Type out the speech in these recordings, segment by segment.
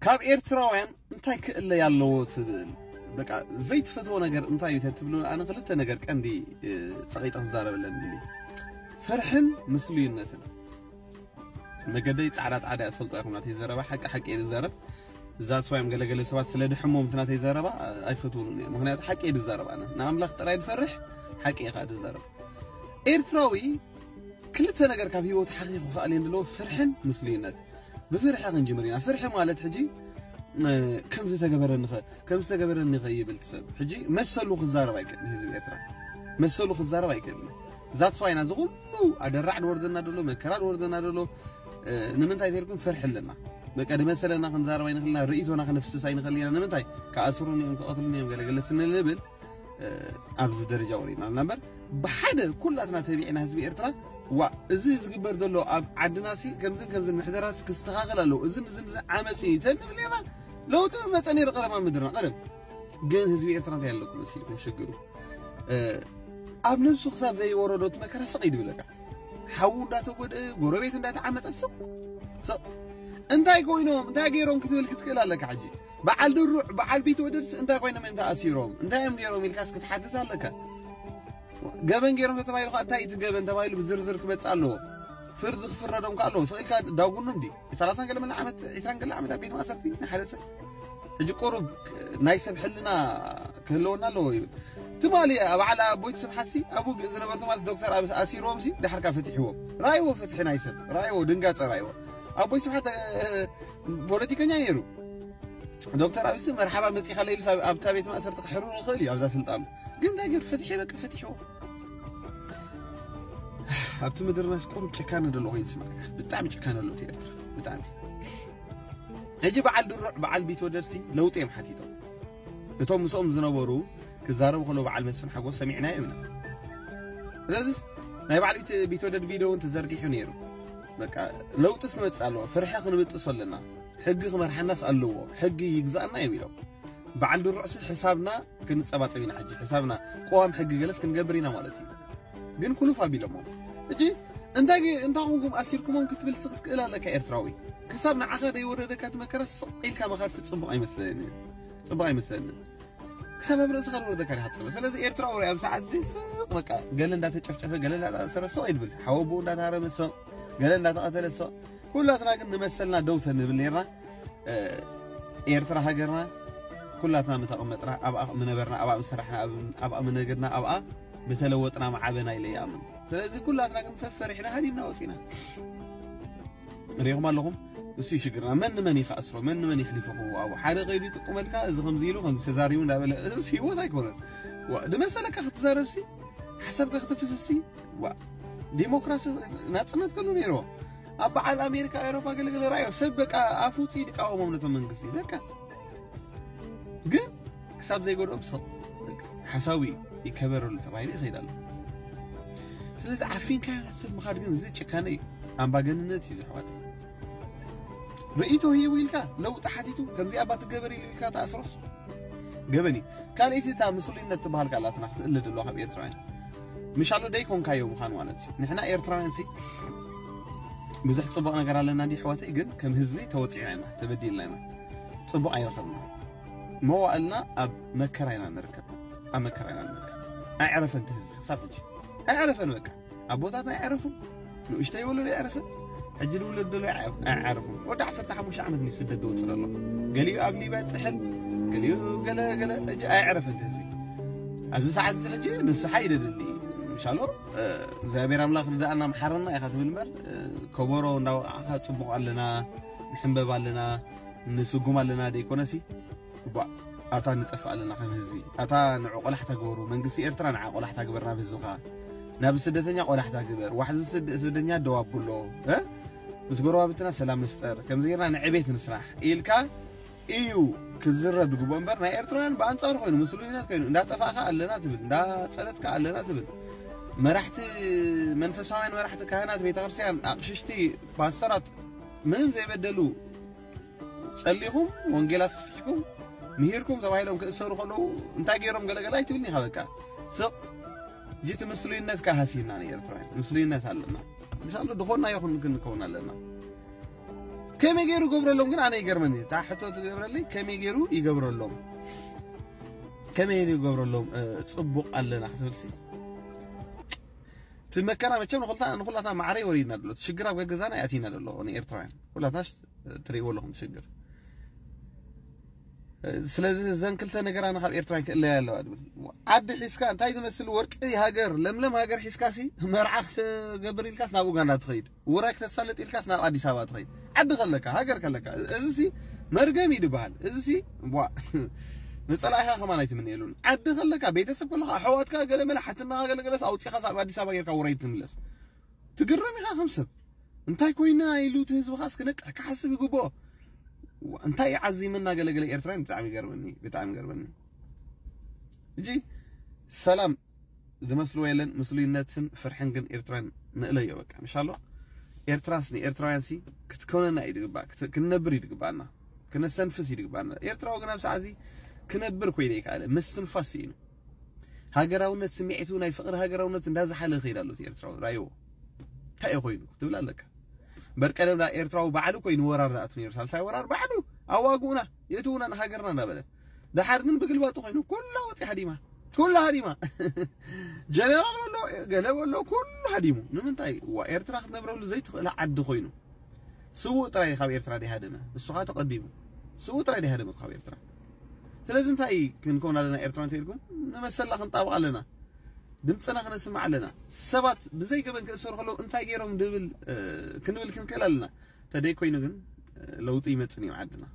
ካብ ኤርትራውያን እንታይ ክእለይ ኣለዎ ትብል? በቃ ዘይትፈትዎ ነገር እንታይ እዩ ተትብሉ፣ ኣነ ክልተ ነገር ቀንዲ ጸቂጠ ክዛረበለን ድሊ። ፍርሕን ምስሉይነትን። መገደይ ጻዕዳ ጻዕዳ እያ፣ ትፈልጦ ኢኹም ናተይ ዘረባ ሓቂ ሓቂ እየ ዝዛረብ። እዛ ትፋዮም ገለገለ ሰባት ስለ ድሕሞም እቲ ናተይ ዘረባ ኣይፈትውሉን እዮም። ምክንያቱ ሓቂ እየ ዝዛረብ፣ ኣነ ንኣምላኽ ጥራይ ዝፈርሕ ሓቂ እየ ከዓ ዝዛረብ። ኤርትራዊ ክልተ ነገር ካብ ህይወቱ ሓኺኹ ክኣልየን ዘለዎ ፍርሕን ምስሉይነት። ብፍርሒ ክንጅምር ኢና። ፍርሒ ማለት ሕጂ ከምዚ ተገበረኒ ከ ከምዚ ተገበረኒ ከ ይብል ሰብ ሕጂ መሰሉ ክዛረብ ኣይክእልን። ህዝቢ ኤርትራ መሰሉ ክዛረብ ኣይክእልን። ዛት ፋይና ዝኹሉ ኣደራዕ ድወርደና ደሎ መከራ ድወርደና ደሎ ንምንታይ ተልኩም ፍርሒ ኣለና። በቃ ድመሰለና ክንዛረብ ኣይንኽልና፣ ርእይቶና ክንፍስስ ኣይንኽእል ኢና። ንምንታይ ክኣስሩን እዮም ክቐትሉን እዮም ገለገለ ስንልብል ኣብዚ ደረጃ ወሪድና ኣለና እምበር ብሓደ ኩላትና ተቢዕና ህዝቢ ኤርትራ ዋ እዚ ዝግበር ዘሎ ኣብ ዓድናሲ ከምዝን ከምዝን ምሕደራሲ ክስተኻኸል ኣለዎ እዝን እዝን እዝን ዓመፅ እዩ ተንብል ኢና። ለውጢ መፀ ነይሩ ቀደማ ምድርና ቀደም ግን ህዝቢ ኤርትራ እንታይ ኣለኩም መሲልኩም ሽግሩ ኣብ ነብሱ ክሳብ ዘይወረዶ እቲ መከራ ስቕ ይድብለካ። ሓዉ እንዳተጎደ ጎረቤት እንዳተዓመፀ ስቕ ስቕ እንታይ ኮይኖም እንታይ ገይሮም ክትብል ክትክእል ኣለካ ሕጂ በዓል ድሩዕ በዓል ቢትወደድስ እንታይ ኮይኖም እዮም ተኣሲሮም እንታይ እዮም ገይሮም ኢልካስ ክትሓትት ኣለካ። ገበን ገይሮም ተተባሂሉ ከዓ እንታይ እቲ ገበን ተባሂሉ ብዝርዝር ክመፅእ ኣለዎ። ፍርዲ ክፍረዶም ከዓ ኣለዎ። ስቕ ኢልካ ዳጉኑ እንዲ ሰላሳን ገለ መለ ዓመት ዒስራን ገለ ዓመት ኣብ ቤት ማእሰርቲ ንሓደ ሰብ ሕጂ ቁሩብ ናይ ሰብ ሕልና ክህልወና ኣለዎ ይብል። ትማሊ ኣብ ዓላ ኣቦይቲ ስብሓትሲ ኣብ ውግእ ዝነበሩ ትማሊ ዶክተር ኣብ ኣሲርዎም ሲ ድሓርካ ፈትሕዎም ራይዎ ፍትሒ ናይ ሰብ ራይዎ ድንጋፀ ራይዎ ኣቦይ ስብሓት ፖለቲከኛ ነይሩ። ዶክተር ኣብይሲ መርሓባ መፂኻ ለይሉ ኣብታ ቤት ማእሰርቲ ክሕርሩ ይኽእል እዩ ኣብዛ ስልጣኑ ግን እንታይ ገይሩ ፈትሒ በቃ ፈትሕዎ። ኣብቲ ምድርናስ ቁሩብ ጭካነ ደሎ ኮይኑ ስማዕካ ብጣዕሚ ጭካነ ኣሎ እቲ ኤርትራ ብጣዕሚ። ሕጂ በዓል ድሩዕ በዓል ቢትወደድሲ ለውጢ እዮም ሓቲቶም። እቶም ምስኦም ዝነበሩ ክዛረቡ ከለዉ በዓል መስፍን ሓጎስ ሰሚዕናዮ ኢና። ስለዚስ ናይ በዓል ቢት- ቢትወደድ ቪድዮ እውን ተዘርጊሑ ነይሩ። በቃ ለውጢስ ክመፅእ ኣለዎ፣ ፍርሒ ክንብጥሶ ኣለና፣ ሕጊ ክመርሓናስ ኣለዎ፣ ሕጊ ይግዛእና እዮም ኢሎም። በዓል ድሩዕሲ ሕሳብና ክንጸባጸብ ኢና ሕጂ፣ ሕሳብና ቅዋም ሕጊ ገለስ ክንገብር ኢና ማለት እዩ። ግን ኩሉፍ ኣቢሎሞ እጂ እንታይ ግ- እንታይ ኮንኩም ኣሲርኩሞም ክትብል ስቕ ክትክእል ኣለካ ኤርትራዊ። ክሳብ ንዓኻ ዘይወረደካ እቲ መከራ ስቕ ኢልካ ምኻድሲ ጽቡቕ ኣይመስለንን፣ ጽቡቕ ኣይመስለንን። ክሳብ ኣብ ርእስኻ ዝወረደካ ዲኻ ትጽበ። ስለዚ ኤርትራዊ ኣብ ሰዓት እዚ ስቕ በቃ ገለ እንዳተጨፍጨፈ ገለ እንዳተኣሰረ ስቕ ይድብል፣ ሓወቦኡ እንዳተሃረመ ስቕ፣ ገለ እንዳተቐተለ ስቕ። ኩላትና ግን ንመሰልና ደው ተንብል ነርና። ኤርትራ ሃገርና ኩላትና ምተቐመጥና ኣብኣ ምነበርና ኣብኣ ምሰራሕና ኣብኣ ምነገድና ኣብኣ ምተለወጥና ምዓበና ኢለ ይኣምን። ስለዚ ኩላትና ግን ፈፈሪሕና ሃዲምና ወፂና። ሪኢኹም ኣለኹም። እሱ ሽግርና መን ንመን ይኸኣስሮ መን ንመን ይሕሊፎ ክወሃቦ ሓደ ከይዱ ይጥቁመልካ እዚ ከምዚ ኢሉ ከምዚ ተዛሪቡ እንዳበለ እዚስ ህይወት ኣይኮነን። ድመሰለካ ክትዛረብሲ ሓሳብካ ክትፍስሲ ዲሞክራሲ ናፅነት ከሉ ነይርዎ። ኣብ በዓል ኣሜሪካ ኤሮፓ ገለገለ ራዮ ሰብ በቃ ኣፉፂ ድቃወሞም ነቶም መንግስቲ በቃ ግን ክሳብ ዘይጎድኦም ሰብ ሓሳዊ ይከበረሉ ተባሂሉ ይኸይድ ኣሎ። ስለዚ ዓፊንካዮ ናብ ሰብ ምኻድ ግን እዚ ጭካነ እዩ፣ ኣምባገንነት እዩ ዝሕዋት። ርእይቶ ሂቡ ኢልካ ለውጢ ሓቲቱ ከምዚ ኣባ ትገበር ኢሉ ኢልካ ተኣስሮስ ገበን እዩ። ካልኣይቲ እታ ምስሉይነት ትበሃል ካላትና ክትእለ ደለዋ ካብ ኤርትራውያን ምሻሎ ደይኮንካዮ ምዃን ማለት እዩ። ንሕና ኤርትራውያን ሲ ብዙሕ ጽቡቕ ነገር ኣለና እንዲ ኣሕዋተይ፣ ግን ከም ህዝቢ ተወጺዕና ኢና፣ ተበዲልና ኢና፣ ጽቡቕ ኣይረኸብና። መዋእልና ኣብ መከራ ኢና ንርከብ፣ ኣብ መከራ ኢና ንርከብ። ኣይዕረፈን እቲ ህዝቢ ክሳብ ሕጂ ኣይዕረፈን። በቃ ኣቦታትና ኣይዕረፉ፣ ንእሽተይ ወለዶ ኣይዕረፈን፣ ሕጂ ዝውለድ ዘሎ ኣይዕረፉ። ወዲ ዓሰርተ ሓሙሽተ ዓመት ንስደት ዝወፅእ ዘሎ፣ ገሊኡ ኣብ ሊብያ ጥሕል፣ ገሊኡ ገለ ገለ፣ ሕጂ ኣይዕረፈን እቲ ህዝቢ። ኣብዚ ሰዓት እዚ ሕጂ ንስሓ ይደድሊ ምሻሎ እግዚኣብሔር ኣምላኽ ርዳእና መሓረና ኢኻ ትብል እምበር ከበሮ እንዳወቃዕካ ጽቡቕ ኣለና ንሕንበብ ኣለና ንስጉም ኣለና ደይኮነሲ እባ ኣታ ንጠፍእ ኣለና ከም ህዝቢ ኣታ ንዑ ቆላሕታ ግበሩ መንግስቲ ኤርትራ ንዓ ቆላሕታ ግበር ናብ ህዝብኻ ናብ ስደተኛ ቆላሕታ ግበር ዋሕዚ ስደተኛ ደው ኣብሎ ምስ ጎረባብትና ሰላም ንፍጠር ከምዚ ጌርና ንዕቤት ንስራሕ ኢልካ እዩ ክዝረብ ዝግብኦ እምበር ናይ ኤርትራውያን ብኣንጻሩ ኮይኑ ምስሉይነት ኮይኑ እንዳጠፋእካ ኣለና ትብል እንዳጸለትካ ኣለና ትብል መራሕቲ መንፈሳውያን መራሕቲ ካህናት ቤተክርስትያን ኣቕሽሽቲ ፓስተራት ምንም ዘይበደሉ ጸሊኹም ወንጌል ኣስፊሕኩም ምሂርኩም ተባሂሎም ክእሰሩ ከለዉ እንታይ ገይሮም ገለገለ ኣይትብልኒ ኢኻ በቃ ስቕ ጅቲ ምስሉይነትካ ሃሲና ንኤርትራውያን ምስሉይነት ኣለና ምሻሉ ድኾና ይኹን ክንከውን ኣለና ከመይ ገይሩ ገብረሎም ግን ኣነ ይገርመኒ። እታ ሕቶ ትገብረለይ ከመይ ገይሩ ይገብረሎም? ከመይ ገይሩ ይገብረሎም? እ፣ ጽቡቕ ኣለና ክትብልሲ? እቲ መከራ መቸም ንኹልታ-፣ ንኹላትና ማዕረ ወሪድና ኣሎ። እቲ ሽግር ኣብ ገገዛና ያቲና ኣሎ ንኤርትራውያን። ኩላትና ሽ-፣ ትርእይዎ ኣለኹም ሽግር። ስለዚ እዘን ክልተ ነገራና ካብ ኤርትራን ክእለያ ኣለዋ ድብል። ዓዲ ሒዝካ እንታይ ዝመስል ወርቂ ሃገር፣ ለምለም ሃገር ሒዝካሲ መርዓ ክትገብር ኢልካስ ናብ ኡጋንዳ ትኸይድ፣ ውራይ ክተሳልጥ ኢልካስ ናብ ኣዲስ ኣበባ ትኸይድ። ዓዲ ከለካ፣ ሃገር ከለካ፣ እዚሲ መርገም እዩ ዝበሃል። እዚሲ፣ ቧ፣ ንጸላኢኻ ከማን ኣይትምንየሉን። ዓዲ ከለካ፣ ቤተሰብ ከለካ፣ ኣሕዋትካ ገለ መለ ሓትናኻ ገለ ገለስ ኣውጺኻስ ኣብ ኣዲስ ኣበባ ጌርካ ውራይ ትምለስ። ትግረም ኢኻ ከም ሰብ። እንታይ ኮይና ኢሉ እቲ ህዝቢ ኻስ ክነቅሕ ክሓስብ ይግብኦ። እንታይ ዓዚምና ገለገለ ኤርትራን ብጣዕሚ ይገርመኒ፣ ብጣዕሚ ይገርመኒ። እንጂ ሰላም ዝመስልዎ የለን፣ ምስሉይነትን ፍርሕን ግን ኤርትራን ንእለዮ በቃ። ምሻሎ ኤርትራስ ንኤርትራውያን ሲ ክትኮነና እዩ ድግባእ፣ ክት-፣ ክንነብር እዩ ድግባእና፣ ክነሰንፍስ እዩ ድግባእና። ኤርትራዊ ግን ኣብ ሰዓት እዚ ክነብር ኮይነ ይከኣለ፣ ምስትንፋስ እዩ። ሃገራውነት ስምዒቱ ናይ ፍቕሪ ሃገራውነት እንዳዝሓለ ይኸይድ ኣሎ እቲ ኤርትራዊ። ራእይዎ እንታይ እዩ ኮይኑ ክትብል ኣለካ። እምበር ቀደም ዳ ኤርትራዊ ባዕሉ ኮይኑ ወራር ዝኣቱ ነይሩ። ሳልሳይ ወራር ባዕሉ ኣዋግኡና፣ የእትዉና ንሃገርና እንዳበለ። ደሓር ግን ብግልባጡ ኮይኑ ኩላ ወፂ ሃዲማ። ኩላ ሃዲማ። ጀነራል በሎ፣ ገለ በሎ፣ ኩሉ ሃዲሙ። ንምንታይ? እዋ ኤርትራ ክትነብረሉ ዘይትኽእል ዓዲ ኮይኑ። ስዉእ ጥራይ ካብ ኤርትራ ዲሃደመ። ንሱ ኸኣ ተቐዲሙ። ስዉእ ጥራይ ዲሃደመ ካብ ኤርትራ። ስለዚ እንታይ ክንከውን ኣለና ኤርትራ እንተ ኢልኩም? ንመሰልና ክንጣበቕ ኣለና። ድምፅና ክነስምዕ ኣለና። ሰባት ብዘይ ገበን ክእሰሩ ከለዉ እንታይ ገይሮም ድብል፣ እ፣ ክንብል ክንክእል ኣለና። ተደይ ኮይኑ ግን፣ እ፣ ለውጢ ይመጽእ እዩ ዓድና።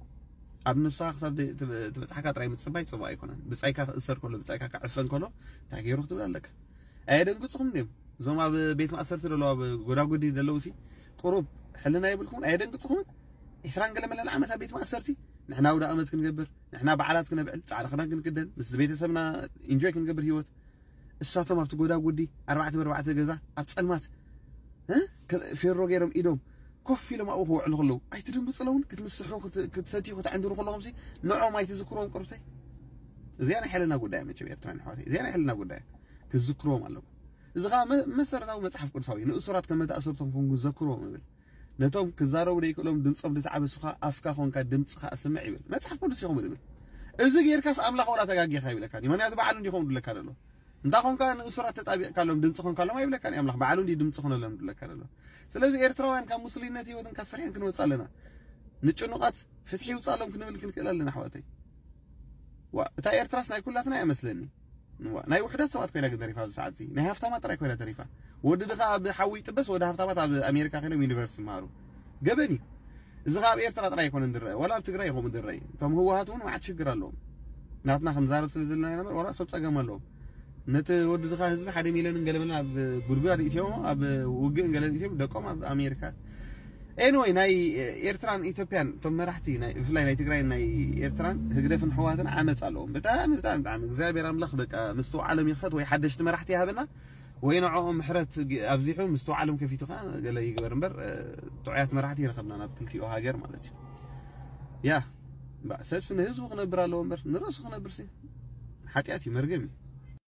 ኣብ ነብስኻ ክሳብ ደይ-፣ ትበ-፣ ትበጽሓካ ጥራይ ምጽባይ ጽቡቕ ኣይኮነን። ብጻይካ ክእሰር ከሎ፣ ብጻይካ ክዕፈን ከሎ እንታይ ገይሩ ክትብል ኣለካ። ኣየደንግጽኹም ድዮም? እዞም ኣብ ቤት ማእሰርቲ ዘለዉ፣ ኣብ ጎዳጉዲ ዘለዉ ሲ ቁሩብ ሕልና የብልኩምን? ኣየደንግጽኹምን? ዒስራን ገለ መለል ዓመት ኣብ ቤት ማእሰርቲ ንሕና ኣውደ ኣመት ክንገብር፣ ንሕና በዓላት ክነብዕል፣ ጻዕዳ ክዳን ክንክደን፣ ምስ ቤተሰብና ኢንጆይ ክንገብር ህይወት። እሳቶም ኣብቲ ጎዳጉዲ ኣርባዕተ ብኣርባዕተ ገዛ ኣብ ጸልማት፣ እ? ከ-፣ ፌሮ ገይሮም ኢዶም ኮፍ ኢሎም ኣብኡ ክውዕሉ ከለዉ ኣይትድንግጹ ኣለዉን? ክትምስሑ፣ ክት-፣ ክትሰትዩ፣ ክትዕንድሩ ከለኹም ሲ ንዖም ኣይትዝክርዎም ቅርብተይ? እዚኣ ናይ ሕልና ጉዳይ መቸም ኤርትራውያን ኣሕዋተይ፣ እዚኣ ናይ ሕልና ጉዳይ ክትዝክርዎም ኣለኩም። እዚ ኸኣ መ-፣ መሰረታዊ መጽሓፍ ቅዱሳዊ እዩ። ንእሱራት ከም መተኣሰርቶም ኮንኩም ዘክርዎም እብል። ነቶም ክዛረቡ ዘይክእሎም ድምጾም ዝተዓበሱኻ ኣፍካ ኮንካ ድምጽኻ ኣስምዕ ይብል። መጽሓፍ ቅዱስ እዩ ከምኡ ዝብል። እዚ ጌርካስ ኣምላኽ ዋላ ተጋጊኻ ይብለካ። ምኽንያቱ ባዕሉ እንዲኾም ዝብለካ ዘሎ። እንታ ኾንካ ንእሱራት ተጣቢቕካሎም ድምጺ ኾንካሎም ኣይብለካን እዩ ኣምላኽ። ባዕሉ እንዲ ድምጺ ኾነሎም ዝብለካ ዘሎ። ስለዚ ኤርትራውያን ካብ ምስሉይነት ህይወትን ካብ ፍርሕን ክንወጽእ ኣለና። ንጭኑቓት ፍትሒ ይውጻሎም ክንብል ክንክእል ኣለና ኣሕዋተይ። ዋ፣ እታ ኤርትራስ ናይ ኩላትና እያ መስለኒ። ዋ፣ ናይ ውሑዳት ሰባት ኮይና ግን ተሪፋ ኣብዚ ሰዓት እዚ። ናይ ሃፍታማት ጥራይ ኮይና ተሪፋ። ወዲ ድኻ ኣብ ሓዊ ይጥበስ፣ ወዲ ሃፍታማት ኣብ ኣሜሪካ ኮይኖም ዩኒቨርሲቲ ይመሃሩ። ገበን እዩ። እዚ ኸኣ ኣብ ኤርትራ ጥራይ ኣይኮነን ዝረአ፣ ዋላ ኣብ ትግራይ ይኸውን ዝረአ እዩ። እቶም ህወሓት እውን መዓት ሽግር ኣለዎም። ናትና ክንዛረብ ስለ ዘለና ኢና እምበር፣ ዋላ ሰብ ጸገም ኣለዎም። ነቲ ወዲ ድኻ ህዝቢ ሓደ ሚልዮንን ገለ መለን ኣብ ጉድጓድ እትዮም፣ ኣብ ውግእን ገለን እትዮም፣ ደቆም ኣብ ኣሜሪካ። ኤኒወይ፣ ናይ ኤርትራን ኢትዮጵያን እቶም መራሕቲ ናይ፣ ብፍላይ ናይ ትግራይን ናይ ኤርትራን ህግደፍን ህወሓትን ዓመፅ ኣለዎም። ብጣዕሚ፣ ብጣዕሚ፣ ብጣዕሚ። እግዚኣብሔር ኣምላኽ በቃ ምስትውዓሎም ይኽፈት ወይ ሓደሽቲ መራሕቲ ይሃበና ወይ ንዕኦም ምሕረት ግ-፣ ኣብዚሑ ምስትውዓሎም ከፊቱ ኸዓ ገለ ይግበር እምበር፣ እ፣ ጥዑያት መራሕቲ ይረኸብና ናብ ክልቲኡ ሃገር ማለት እዩ። ያ፣ እምበኣር ሰብሲ ንህዝቡ ክነብር ኣለዎ እምበር ንርእሱ ክነብርሲ ሓጢኣት እዩ፣ መርገም እዩ።